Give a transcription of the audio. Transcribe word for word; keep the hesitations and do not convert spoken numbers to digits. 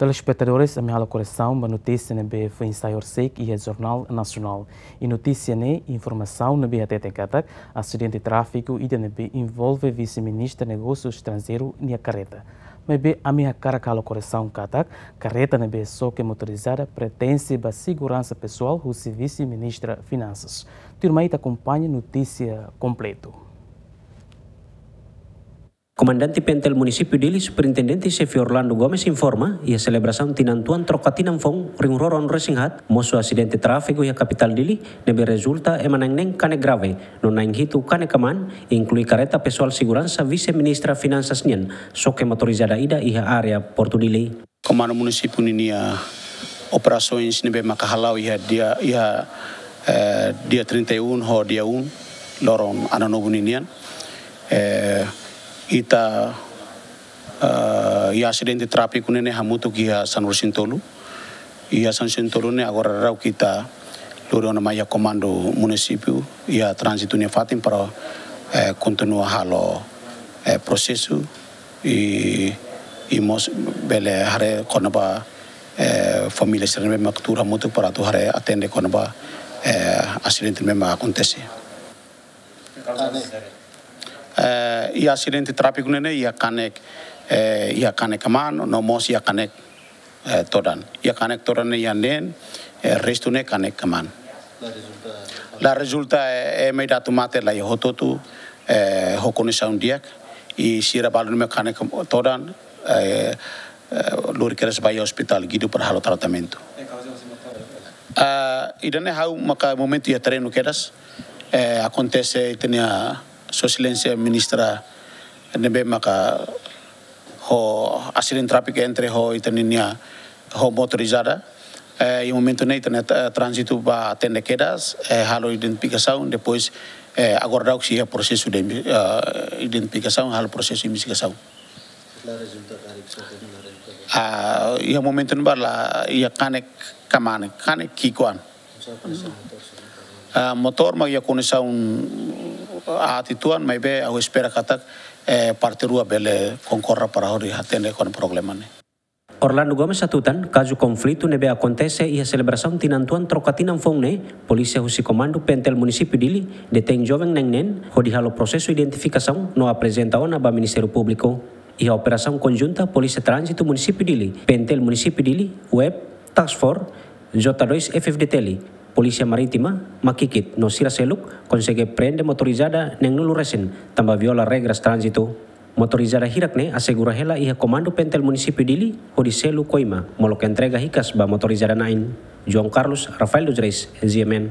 Telespetadores, ami halo korresaun ba notísia ne'ebé foin sai horisehik iha Jornál Nasionál. I notísia ne'e, informasaun ne'ebé hateten katak asidente tráfiku ida ne'ebé envolve Vise-Ministra Negósiu Estranjeiru nia karreta. Maibé ami hakarak halo korresaun katak karreta ne'ebé xoke motorizada pertense ba seguransa pesoál husi Vise-Ministra Finansas. Tuirmai ita akompaña notísia kompletu. Komandante PNTL Munisípiu Dili, Superintendente Xefe Orlando Gomes informa, iha selebrasaun tinan tuan troka tinan foun rihun rua ruanulu resin haat, mosu asidente tráfiku iha kapitál Dili, ne'ebé rezulta ema na'in neen kanek grave, no na'in hitu kanek aman, inklui karreta pesoál seguransa Vise-Ministra Finansas nian, xoke motorizada ida iha área Portu Dili. Komandu Munisípiu ninia operasaun ne'ebé maka hala'o iha dia, iha, eh, dia trinta e um ho dia um, loron Ano Novo ninian. Eh, ita, eh, iha asidente tráfiku ne'e hamutuk iha sanulu resin tolu. Iha sanulu resin tolu ne'e agora daudaun ita lori ona mai iha Komandu Munisípiu, iha tránzitu nia fatin para, eh, kontinua halo, eh, prosesu i, i mós bele haree kona-ba, eh, família sira ne'ebé mak tuur hamutuk para atu haree atende kona-ba, eh, asidente ne'ebé mak akontese. Eh, iha asidente tráfiku ne'e, iha kanek, eh, iha kanek aman, no mós iha kanek, eh, todan. Iha kanek todan ne'e iha neen, eh, restu ne'e kanek aman. La rezulta, eh, ema ida atu mate la iha hotu-hotu, eh, ho kondisaun di'ak, i sira balu ne'ebé kanek todan, eh, eh, lori kedas ba iha ospitál Guido para halo tratamentu. Ah, ida-ne'e ha'u maka momentu iha terrenu kedas, eh, akontese ita-nia Sua Exelénsia Ministra ne'ebé maka ho asidente tráfiku entre ho ita ninia ho motorizada. Eh, iha momentu ne'e ita-nia, eh, tránzitu bá atende kedas, eh, halo identifikasaun, depois, eh, agora daudaun sei iha prosesu de inve-, eh, identifikasaun, halo prosesu investigasaun. La rezulta karik so temi la rezulta. Ah, iha momentu ne'ebá la iha kanek kamane, kanek ki'ikoan. Ah, motór mak iha kondisaun aat uitoan, maibé ha'u espera katak, eh, parte rua bele konkorda para hodi atende kona-ba problema ne'e. Orlando Gomes hatutan, kazu konflitu ne'ebé akontese iha selebrasaun tinan tuan troka tinan foun ne'e, polísia husi Komandu PNTL Munisípiu Dili detein joven na'in neen, hodi halo prosesu identifikasaun no aprezenta ona ba Ministériu Públiku. Iha operasaun konjunta Polísia Tránzitu Munisípiu Dili, PNTL Munisípiu Dili, web, Task Force, J dois F-FDTL, Polísia Marítima, Makikit, no sira seluk, konsege prende motorizada neenulu resin, tanba viola regras tránzitu. Motorizada hirak ne'e asegura hela iha Komandu PNTL Munisípiu Dili, hodi selu koima, molok entrega hikas ba motorizada na'in. João Carlos, Rafael dos Reis, G M N.